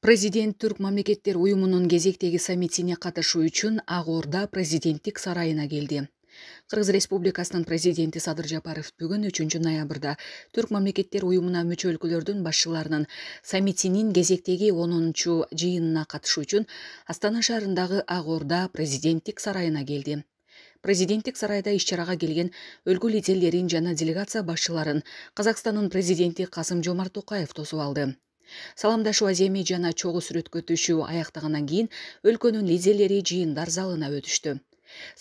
Президент Түрк мамлекеттер уюмунун кезектеги саммитине катышуу үчүн Ак Орда президенттик сарайына келди. Кыргыз Республикасынын президенти Садыр Жапаров бүгүн 3-ноябрда Түрк мамлекеттер уюмуна мүчө өлкөлөрдүн башчыларынын саммитинин кезектеги 10-жыйынына катышуу үчүн Астана шаарындагы Ак Орда президенттик сарайына келди. Президенттик сарайда иш-чарага келген өлкө лидерлерин жана делегация башчыларын Казакстандын президенти Касым-Жомарт Токаев тосуп алды. Саламдашуу аземи жана чогуу сүрөткө түшүү аяктагандан кийин өлкөнүн лидерлери жыйындар залына өтүштү.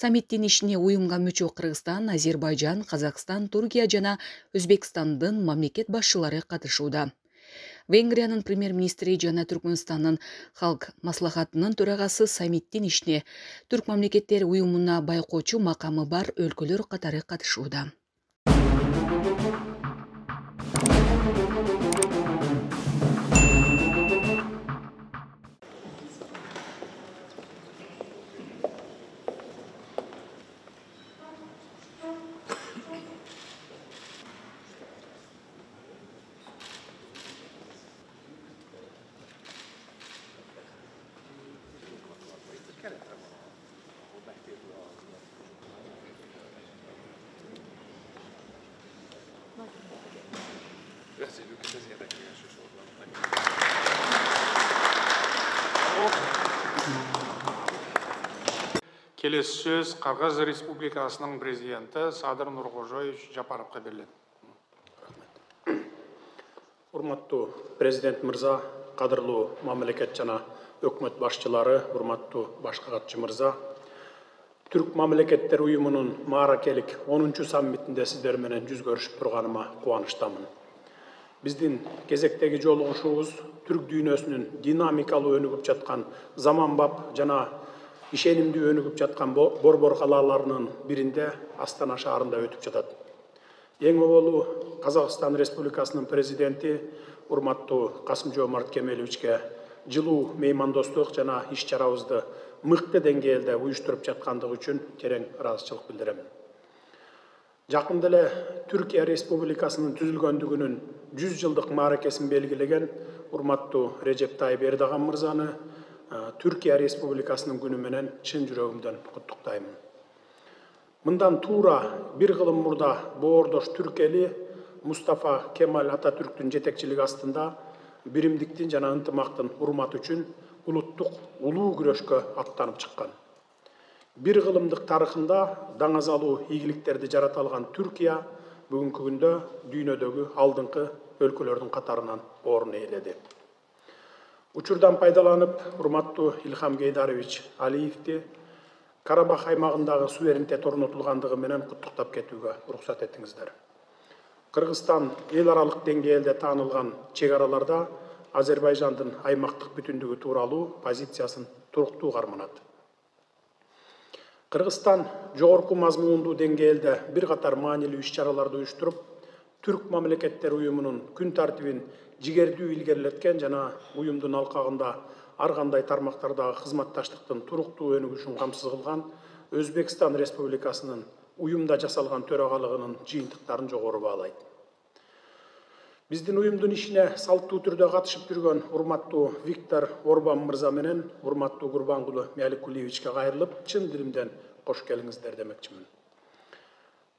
Саммиттин ишине уюмга мүчө Кыргызстан, Азербайжан, Казакстан, Туркия жана Өзбекстандын мамлекет башчылары катышууда. Венгриянын премьер-министри жана Түркмөнстандын Халк маслахатынын төрагасы саммиттин ишине Түрк мамлекеттер уюмуна байкоочу макамы бар өлкөлөр катары катышууда. Келесі сөз Кыргыз Республикасынын президенти Садыр Нуркожоевич Жапаровго берилет. Урматтуу президент мырза, кадырлуу мамлекет жана өкмөт башчылары, урматтуу башкы катчы мырза, Түрк мамлекеттер уюмунун мааракелик 10-чу саммитинде сиздер менен жүз көрүшүп турганыма кубанычтамын. Биздин кезектеги жолугушуубуз түрк дүйнөсүнүн динамикалуу өнүгүп жаткан заманбап жана ишенимдүү өнүгүп жаткан борбор калаларынын биринде Астана шаарында өтүп жатат. Эң оболу Казакстан Республикасынын президенти урматтуу Касым-Жомарт Кемеловичке жылуу меймандостук жана иш-чарабызды мыкты деңгээлде уюштуруп жаткандыгы үчүн терең ыраазычылык билдирем. Жакында эле Түркия Республикасынын түзүлгөндүгүнүн 100 жылдык мааракесин белгилеген урматтуу Режеп Тайып Эрдоган мырзаны Түркия Республикасынын күнү менен чын жүрөгүмдөн куттуктаймын. Мындан туура бир кылым мурда боордош түрк эли Мустафа Кемаль Ататүрктүн жетекчилиги астында биримдиктин жана ынтымактын урматы үчүн улуттук улуу күрөшкө аттанып чыккан. Бир кылымдык тарыхында даңазалуу ийгиликтерди жарата алган Түркия бүгүнкү күндө дүйнөдөгү алдыңкы өлкөлөрдүн катарынан орун ээледи. Учурдан пайдаланып, урматтуу Илхам Гейдарович Алиевди Карабах аймагындагы суверенитет орнотулгандыгы менен куттуктап кетүүгө уруксат этиңиздер. Кыргызстан эл аралык деңгээлде таанылган чек араларда Азербайжандын аймактык бүтүндүгү тууралуу позициясын туруктуу карманат. Кыргызстан жогорку мазмундуу деңгээлде бир катар маанилүү иш-чараларды уюштуруп, Түрк мамлекеттер уюмунун күн тартибин жигердүү илгерилеткен жана уюмдун алкагында ар кандай тармактардагы кызматташтыктын туруктуу өнүгүшүн камсыз кылган Өзбекстан Республикасынын уюмда жасалган төрагалыгынын жыйынтыктарын жогору баалайт. Биздин уюмдун ишине салттуу түрдө катышып жүргөн урматтуу Виктор Орбан мырза менен урматтуу Курбангулы Мяликулиевичке кайрылып, чын дилимден кош келиңиздер демекчимин.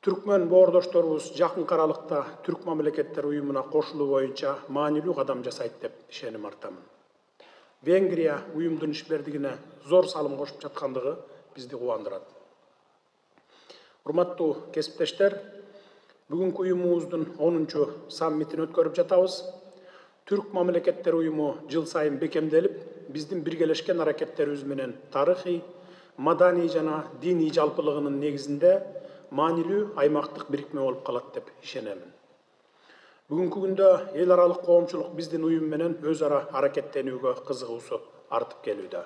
Түркмөн боордошторубуз жакынкы аралыкта Түрк мамлекеттер уюмуна кошулуу боюнча маанилүү кадам жасайт деп ишеним артамын. Венгрия уюмдун ишмердигине зор салым кошуп жаткандыгы бизди кубандырат. Урматтуу кесиптештер, бүгүнкү уюмубуздун 10-чу саммитин өткөрүп жатабыз. Түрк мамлекеттер уюму жыл сайын бекемделип, биздин биргелешкен аракеттерибиз менен тарыхый, маданий жана диний жалпылыгынын негизинде маанилүү аймактык бирикме болуп калат деп ишенемин. Бүгүнкү күндө эл аралык коомчулук биздин уюм менен өз ара аракеттенүүгө кызыгуусу артып келүүдө.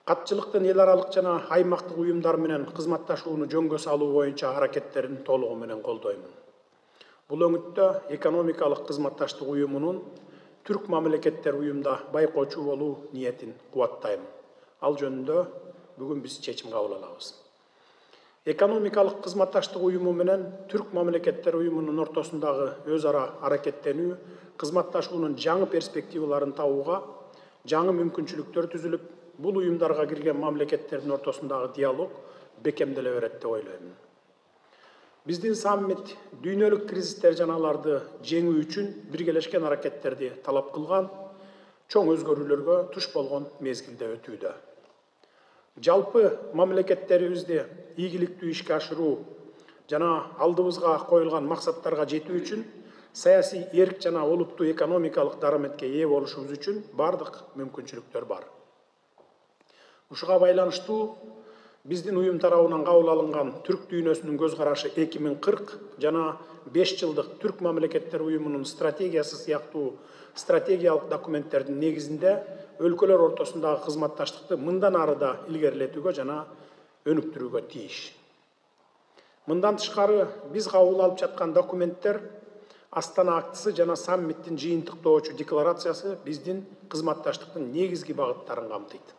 Катчылыктын эл аралык жана аймактык уюмдар менен кызматташууну жөнгө салуу боюнча аракеттерин толугу менен колдоймун. Бул өңүттө экономикалык кызматташтык уюмунун түрк мамлекеттер уюмда байкоочу болуу ниетин кубаттайм. Ал жөнүндө бүгүн биз чечим кабыл алабыз. Экономикалык кызматташтык уюму менен түрк мамлекеттер уюмунун ортосундагы өз ара аракеттенүү, кызматташуунун жаңы перспективаларын табууга жаңы мүмкүнчүлүктөр түзүлүп, бул уюмдарга кирген мамлекеттердин ортосундагы диалог бекемделе берет деп ойлойм. Биздин саммит дүйнөлүк кризистер жана аларды жеңүү үчүн биргелешкен аракеттерди талап кылган, чоң өзгөрүүлөргө туш болгон мезгилде өтүүдө. Жалпы мамлекеттерибизди ийгиликтүү ишке ашыруу жана алдыбызга коюлган максаттарга жетүү үчүн саясий эрк жана олуттуу экономикалык дараметке ээ болушубуз үчүн бардык мүмкүнчүлүктөр бар. Ушуга байланыштуу биздин уюм тарабынан кабыл алынган түрк дүйнөсүнүн көз карашы 2040 жана 5 жылдык түрк мамлекеттер уюмунун стратегиясы сыяктуу стратегиялык документтердин негизинде өлкөлөр ортосундагы кызматташтыкты мындан ары да илгерилетүүгө жана өнүктүрүүгө тийиш. Мындан тышкары биз кабыл алып жаткан документтер Астана актысы жана саммиттин жыйынтыктоочу декларациясы биздин кызматташтыктын негизги багыттарын камтыйт.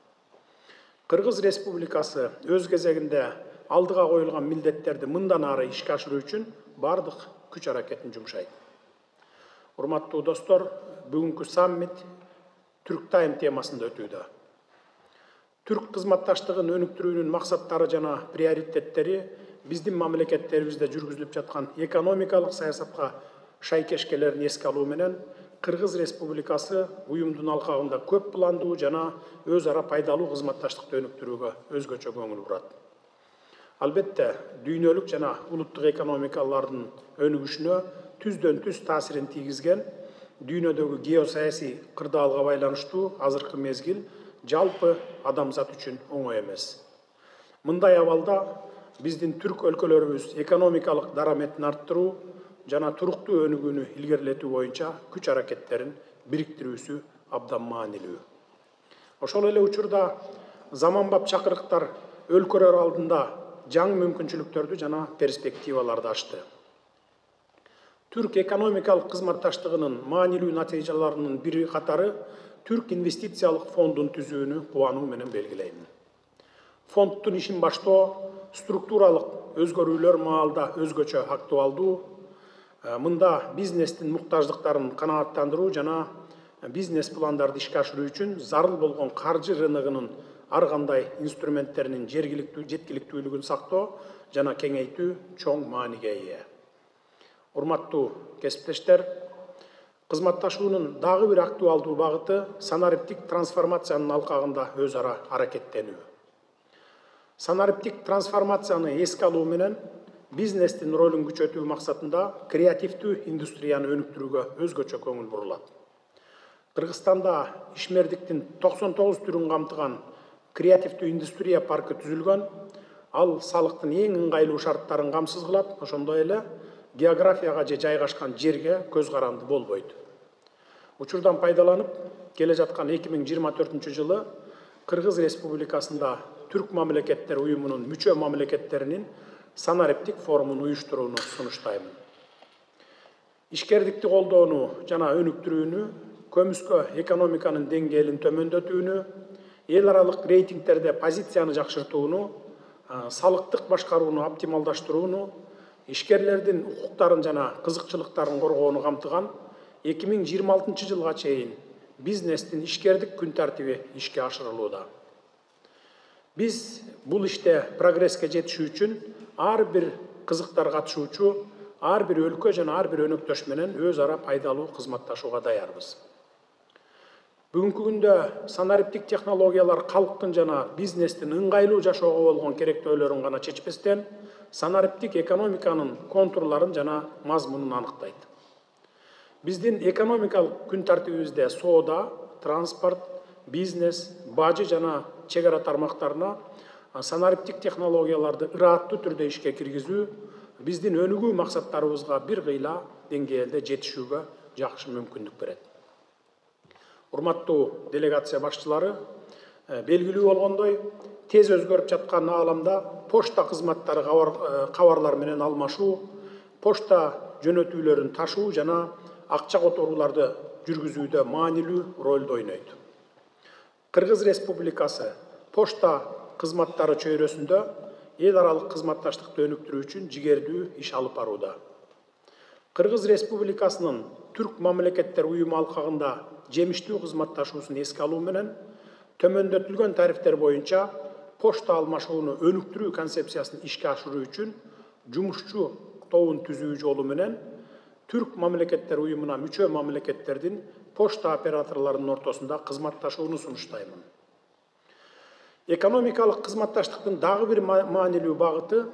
Кыргыз Республикасы өз кезегинде алдыга коюлган милдеттерди мындан ары ишке ашыруу үчүн бардык күч аракетин жумшайт. Урматтуу достор, бүгүнкү саммит Түрк тайм темасында өтүүдө. Түрк кызматташтыгын өнүктүрүүнүн максаттары жана приоритеттери биздин мамлекеттерибизде жүргүзүлүп жаткан экономикалык саясатка шайкешкелерин эске алуу менен Кыргыз Республикасы уюмдун алкагында көп пландуу жана өз ара пайдалуу кызматташтыкты өнүктүрүүгө өзгөчө көңүл бурат. Албетте, дүйнөлүк жана улуттук экономикалардын өнүгүшүнө түздөн түз таасирин тийгизген дүйнөдөгү геосаясий кырдаалга байланыштуу азыркы мезгил жалпы адамзат үчүн оңой эмес. Мындай абалда биздин түрк өлкөлөрүбүз экономикалык дараметин арттыруу жана туруктуу өнүгүүнү илгерилетүү боюнча күч аракеттерин бириктирүүсү абдан маанилүү. Ошол эле учурда заманбап чакырыктар өлкөлөр алдында жаңы мүмкүнчүлүктөрдү жана перспективаларды ачты. Түрк экономикалык кызматташтыгынын маанилүү натыйжаларынын бири катары Түрк инвестициялык фондун түзүүнү кубануу менен белгилейм. Фонддун ишин баштоо структуралык өзгөрүүлөр маалда өзгөчө актуалдуу. Мында бизнестин муктаждыктарын канааттандыруу жана бизнес пландарды ишке ашыруу үчүн зарыл болгон каржы рыногунун ар кандай инструменттеринин жеткиликтүүлүгүн сактоо жана кеңейтүү чоң мааниге ээ. Урматтуу кесиптештер, кызматташуунун дагы бир актуалдуу багыты санариптик трансформациянын алкагында өз ара аракеттенүү. Санариптик трансформацияны эске алуу менен бизнестин ролун күчөтүү максатында креативдүү индустрияны өнүктүрүүгө өзгөчө көңүл бурулат. Кыргызстанда ишмердиктин 99 түрүн камтыган креативдүү индустрия паркы түзүлгөн. Ал салыктын эң ыңгайлуу шарттарын камсыз кылат, ошондой эле географияга же жайгашкан жерге көз каранды болбойт. Учурдан пайдаланып, келе жаткан 2024 жылы Кыргыз Республикасында Түрк мамлекеттер уюмунун мүчө мамлекеттеринин санариптик форумун уюштурууну сунуштайм. Ишкердикти колдоону жана өнүктүрүүнү, көмүскө экономиканын деңгээлин төмөндөтүүнү, эл аралык рейтингтерде позицияны жакшыртууну, салыктык башкарууну оптималдаштырууну, ишкерлердин укуктарын жана кызыкчылыктарын коргоону камтыган 2026 жылга чейин бизнестин ишкердик күн тартиби ишке ашырылууда. Биз бул иште прогресске жетишүү үчүн ар бир кызыктар катышуучу, ар бир өлкө жана ар бир өнөктөш менен өз ара пайдалуу кызматташууга даярбыз. Бүгүнкү күндө санариптик технологиялар калктын жана бизнестин ыңгайлуу жашоого болгон керектөөлөрүн гана чечпестен, санариптик экономиканын контурларын жана мазмунун аныктайт. Биздин экономикалык күн тартибибизде соода, транспорт, бизнес, бажы жана чек ара тармактарына санариптик технологияларды ырааттуу түрдө ишке киргизүү биздин өнүгүү максаттарыбызга бир кыйла деңгээлде жетишүүгө жакшы мүмкүндүк берет. Урматтуу делегация башчылары, белгилүү болгондой, тез өзгөрүп жаткан ааламда почта кызматтары кабарлар менен алмашуу, почта жөнөтүүлөрүн ташуу жана акча которууларды жүргүзүүдө маанилүү ролду ойнойт. Кыргыз Республикасы почта кызматтары чөйрөсүндө эл аралык кызматташтыкты өнүктүрүү үчүн жигердүү иш алып барууда. Кыргыз Республикасынын Түрк мамлекеттер уюму алкагында жемиштүү кызматташуусун эске алуу менен төмөндөтүлгөн тарифтер боюнча почта алмашууну өнүктүрүү концепциясын ишке ашыруу үчүн жумушчу тобун түзүү жолу менен Түрк мамлекеттер уюмуна мүчө мамлекеттердин почта операторлорунун ортосунда кызматташууну сунуштаймын. Экономикалык кызматташтыктын дагы бир маанилүү багыты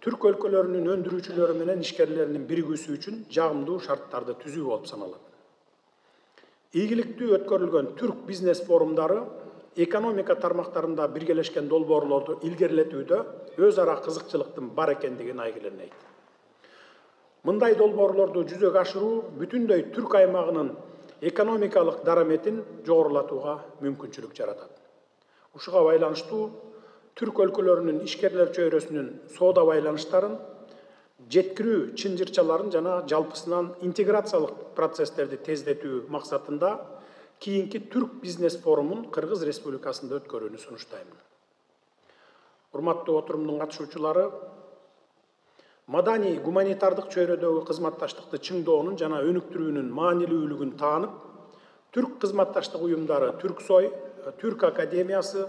Түрк өлкөлөрүнүн өндүрүүчүлөрү менен ишкерлеринин биригүүсү үчүн жагымдуу шарттарды түзүү болуп саналат. Ийгиликтүү өткөрүлгөн түрк бизнес форумдары экономика тармактарында биргелешкен долбоорлорду илгерилетүүдө өз ара кызыкчылыктын бар экендигин айгиленейт. Мындай долбоорлорду жүзөгө ашыруу бүтүндөй түрк аймагынын экономикалык дараметин жогорулатууга мүмкүнчүлүк жаратат. Ушуга байланыштуу түрк өлкөлөрүнүн ишкерлер чөйрөсүнүн соода байланыштарын, жеткирүү чынжырчаларын жана жалпысынан интеграциялык процесстерди тездетүү максатында кийинки түрк бизнес форумун Кыргыз Республикасында өткөрүүнү сунуштаймын. Урматтуу отурумдун катышуучулары, маданий гуманитардык чөйрөдөгү кызматташтыкты чыңдоонун жана өнүктүрүүнүн маанилүүлүгүн таанып, түрк кызматташтык уюмдары Түрксой, Түрк академиясы,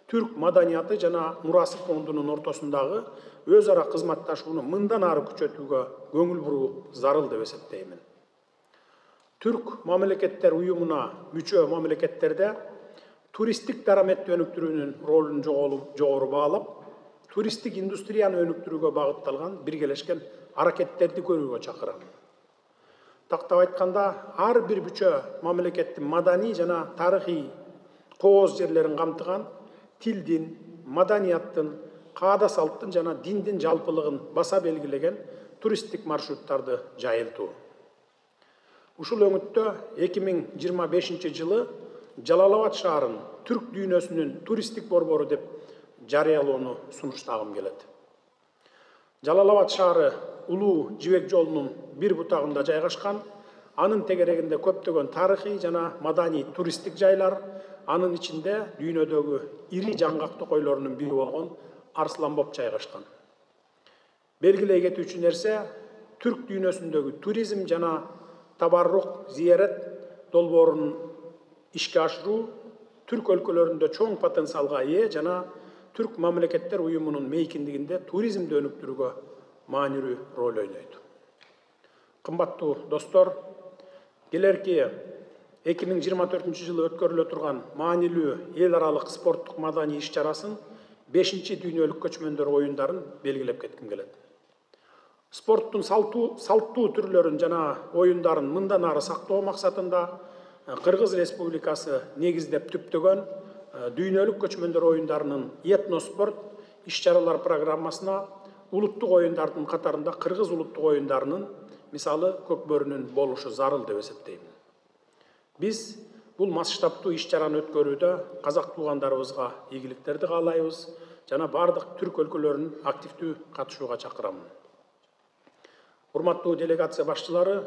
Түрк маданияты жана мурасы фондунун ортосундагы өз ара кызматташууну мындан ары күчөтүүгө көңүл буруу зарыл деп эсептеймин. Түрк мамлекеттер уюмуна мүчө мамлекеттерде туристтик дараметти өнүктүрүүнүн ролун жогору баалап, туристтик индустрияны өнүктүрүүгө багытталган биргелешкен аракеттерди көрүүгө чакырам. Тактап айтканда, ар бир мүчө мамлекеттин маданий жана тарыхый кооз жерлерин камтыган тилдин, маданияттын, каада салттын жана диндин жалпылыгын баса белгилеген туристтик маршруттарды жайылтуу. Ушул өңүттө 2025 жылы Жалалабад шаарын түрк дүйнөсүнүн туристтик борбору деп жарыялоону сунуштагым келет. Жалалабад шаары улуу жибек жолунун бир бутагында жайгашкан, анын тегерегинде көптөгөн тарыхый жана маданий туристтик жайлар, анын ичинде дүйнөдөгү ири жаңгактуу койлорунун бири болгон Арсланбоп жайгашкан. Белгилей кетүүчү нерсе, түрк дүйнөсүндөгү туризм жана табаррук зиярат долбоорун ишке ашыруу түрк өлкөлөрүндө чоң потенциалга ээ жана түрк мамлекеттер уюмунун мейкиндигинде туризмди өнүктүрүүгө маанилүү роль ойнойт. Кымбаттуу достор, келерки 2024 жылы өткөрүлө турган маанилүү эл аралык спорттук маданий иш-чарасын 5-чи дүйнөлүк көчмөндөр оюндарын белгилеп кетким келет. Спорттун салттуу түрлөрүн жана оюндарын мындан ары сактоо максатында Кыргыз Республикасы негиздеп түптөгөн дүйнөлүк көчмөндөр оюндарынын этноспорт иш-чаралар программасына улуттук оюндардын катарында Кыргыз улуттук оюндарынын, мисалы, Көкбөрүнүн болушу зарыл деп эсептейм. Биз бул масштабтуу иш-чараны өткөрүүдө казак туугандарыбызга ийгиликтерди каалайбыз жана бардык түрк өлкөлөрүн активдүү катышууга чакырамын. Урматтуу делегация башчылары,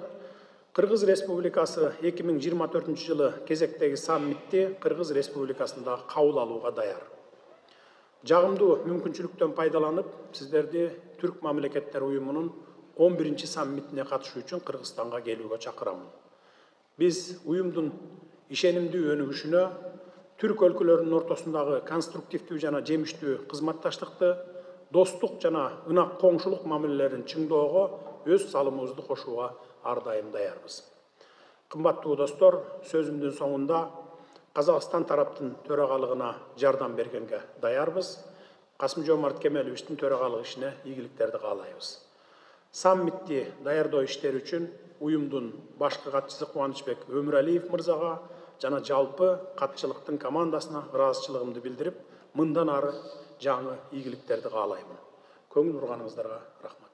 Кыргыз Республикасы 2024 жылы кезектеги саммитти Кыргыз Республикасында кабыл алууга даяр. Жагымдуу мүмкүнчүлүктөн пайдаланып, сиздерди Түрк мамлекеттер уюмунун 11-чи саммитине катышуу үчүн Кыргызстанга келүүгө чакырамын. Биз уюмдун ишенимдүү өнүгүшүнө, түрк өлкөлөрүнүн ортосундагы конструктивдүү жана жемиштүү кызматташтыкты, достук жана ынак коңшулук мамилелерин чыңдоого өз салымыбызды кошууга ар дайым даярбыз. Кымбаттуу достор, сөзүмдүн соңунда Казакстан тараптын төрагалыгына жардам бергенге даярбыз. Касым-Жомарт Кемеловичтин төрагалык ишине ийгиликтерди каалайбыз. Саммитти даярдоо иштери үчүн уюмдун башкы катчысы Кубанычбек Өмүралиев мырзага жана жалпы катчылыктын командасына ыраазычылыгымды билдирип, мындан ары жаңы ийгиликтерди каалаймын. Көңүл бурганыңыздарга рахмат.